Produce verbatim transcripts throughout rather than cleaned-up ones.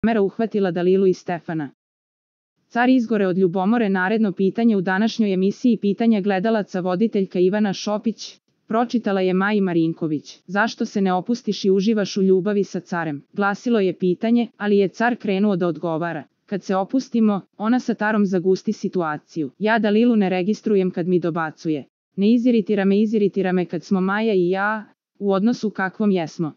Kamera uhvatila Dalilu i Stefana. Car izgore od ljubomore. Naredno pitanje u današnjoj emisiji pitanja gledalaca voditeljka Ivana Šopić. Pročitala je Maji Marinković. Zašto se ne opustiš i uživaš u ljubavi sa carem? Glasilo je pitanje, ali je car krenuo da odgovara. Kad se opustimo, ona sa tarom zagusti situaciju. Ja Dalilu ne registrujem kad mi dobacuje. Ne iziritira me, iziritira me kad smo Maja i ja u odnosu kakvom jesmo.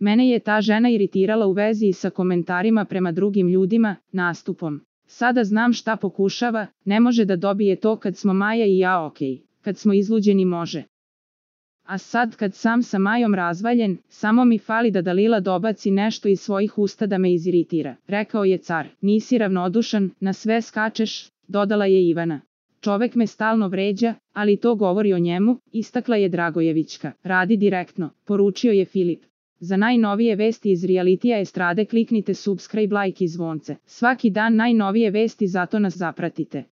Mene je ta žena iritirala u vezi sa komentarima prema drugim ljudima, nastupom. Sada znam šta pokušava, ne može da dobije to kad smo Maja i ja okej. Kad smo izluđeni može. A sad kad sam sa Majom razvaljen, samo mi fali da Dalila dobaci nešto iz svojih usta da me iziritira. Rekao je car. Nisi ravnodušan, na sve skačeš, dodala je Ivana. Čovek me stalno vređa, ali to govori o njemu, istakla je Dragojevićka. Radi direktno, poručio je Filip. Za najnovije vesti iz realitija estrade kliknite subscribe, like i zvonce. Svaki dan najnovije vesti, zato nas zapratite.